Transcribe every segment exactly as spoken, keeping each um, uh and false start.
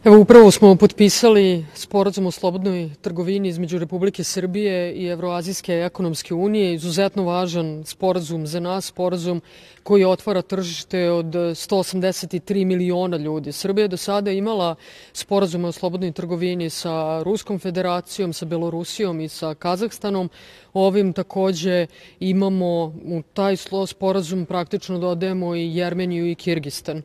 Evo, upravo smo potpisali sporazum o slobodnoj trgovini između Republike Srbije i Evroazijske ekonomske unije. Izuzetno važan sporazum za nas, sporazum koji otvara tržište od sto osamdeset tri miliona ljudi. Srbija je do sada imala sporazume o slobodnoj trgovini sa Ruskom federacijom, sa Belorusijom i sa Kazahstanom. Ovim takođe imamo u taj sporazum praktično dodajemo i Jermeniju i Kirgistan.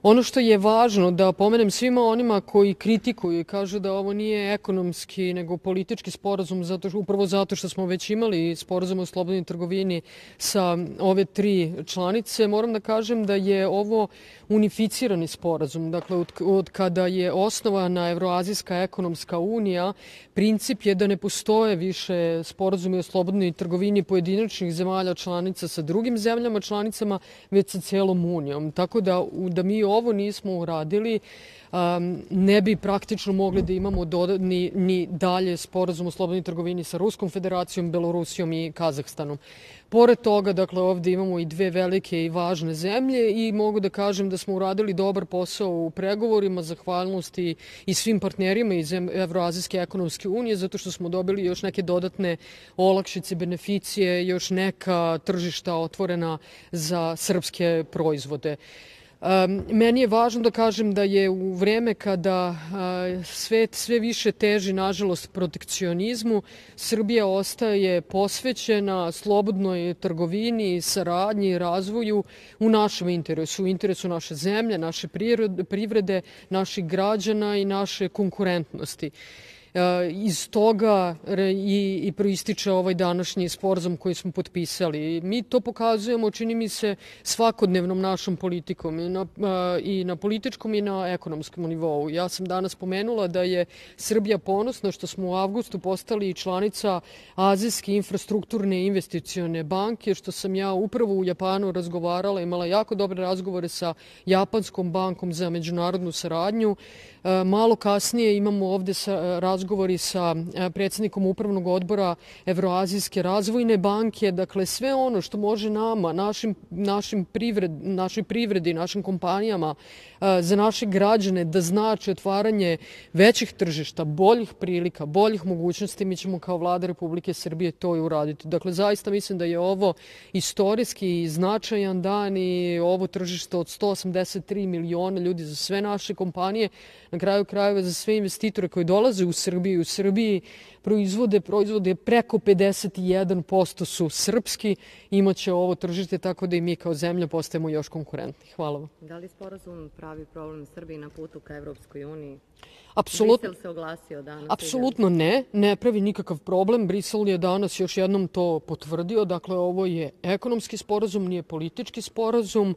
Ono što je važno da pomenem svima onima koji kritikuju i kažu da ovo nije ekonomski nego politički sporazum, zato, upravo zato što smo već imali sporazum o slobodnoj trgovini sa ove tri članice, moram da kažem da je ovo unificirani sporazum. Dakle, od, od kada je osnovana Evroazijska ekonomska unija, princip je da ne postoje više sporazumi o slobodnoj trgovini pojedinačnih zemalja članica sa drugim zemljama članicama, već sa celom unijom. Tako da, da mi ovo nismo uradili, um, ne bi praktično mogli da imamo ni, ni dalje sporazum o slobodnoj trgovini sa Ruskom federacijom, Belorusijom i Kazahstanom. Pored toga, dakle, ovde imamo i dve velike i važne zemlje i mogu da kažem da smo uradili dobar posao u pregovorima, zahvalnosti i svim partnerima iz Evroazijske ekonomske unije, zato što smo dobili još neke dodatne olakšice, beneficije, još neka tržišta otvorena za srpske proizvode. Um, meni je važno da kažem da je u vreme kada uh, svet sve više teži, nažalost, protekcionizmu, Srbija ostaje posvećena slobodnoj trgovini, saradnji i razvoju u našem interesu, u interesu naše zemlje, naše privrede, naših građana i naše konkurentnosti. Iz toga i, i proističe ovaj današnji sporazum koji smo potpisali. Mi to pokazujemo, čini mi se, svakodnevnom našom politikom i na, i na političkom i na ekonomskom nivou. Ja sam danas pomenula da je Srbija ponosna što smo u avgustu postali članica Azijske infrastrukturne investicione banke, što sam ja upravo u Japanu razgovarala, imala jako dobre razgovore sa Japanskom bankom za međunarodnu saradnju. Malo kasnije imamo ovde sa, razgovori sa predsjednikom upravnog odbora Evroazijske razvojne banke. Dakle, sve ono što može nama, našim, našim privred, našoj privredi, našim kompanijama, za naše građane da znači otvaranje većih tržišta, boljih prilika, boljih mogućnosti, mi ćemo kao Vlada Republike Srbije to i uraditi. Dakle, zaista mislim da je ovo istorijski značajan dan i ovo tržište od sto osamdeset tri miliona ljudi za sve naše kompanije, na kraju krajeva za sve investitore koji dolaze u Srbiju. U Srbiji proizvode, proizvode preko pedeset jedan posto su srpski, imaće ovo tržište tako da i mi kao zemlja postajemo još konkurentni. Hvala vam. Da li sporazum pravi problem Srbiji na putu ka Evropskoj uniji? Apsolutno, Brisel se oglasio danas. Apsolutno ne, ne pravi nikakav problem. Brisel je danas još jednom to potvrdio. Dakle, ovo je ekonomski sporazum, nije politički sporazum.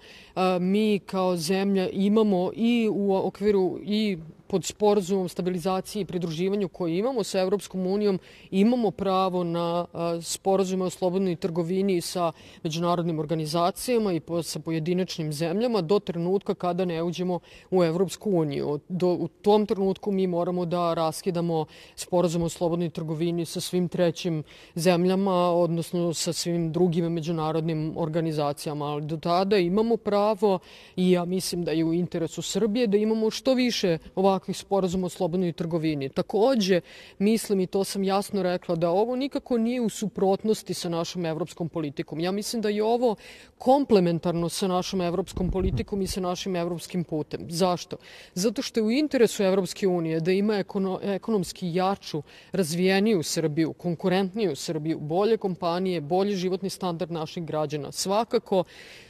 Mi kao zemlja imamo i u okviru i pod sporazumom stabilizacije i pridruživanju koji imamo sa Evropskom unijom, imamo pravo na sporazume o slobodnoj trgovini sa međunarodnim organizacijama i sa pojedinačnim zemljama do trenutka kada ne uđemo u Evropsku uniju. Do, u tom trenutku mi moramo da raskidamo sporazum o slobodnoj trgovini sa svim trećim zemljama, odnosno sa svim drugim međunarodnim organizacijama. Ali do tada imamo pravo i ja mislim da je u interesu Srbije da imamo što više ovakvih sporazuma o slobodnoj trgovini. Takođe, mislim i to sam jasno rekla da ovo nikako nije u suprotnosti sa našom evropskom politikom. Ja mislim da je ovo komplementarno sa našom evropskom politikom i sa našim evropskim putem. Zašto? Zato što je u interesu Evropske unije da ima ekono, ekonomski jaču, razvijeniju Srbiju, konkurentniju Srbiju, bolje kompanije, bolji životni standard naših građana. Svakako,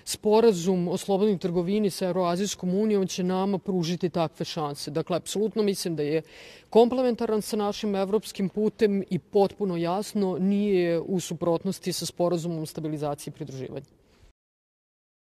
sporazum o slobodnoj trgovini sa Evroazijskom unijom će nama pružiti takve šanse. Dakle, apsolutno mislim da je komplementaran sa našim evropskim putem i potpuno jasno nije u suprotnosti sa sporazumom o stabilizaciji i pridruživanju.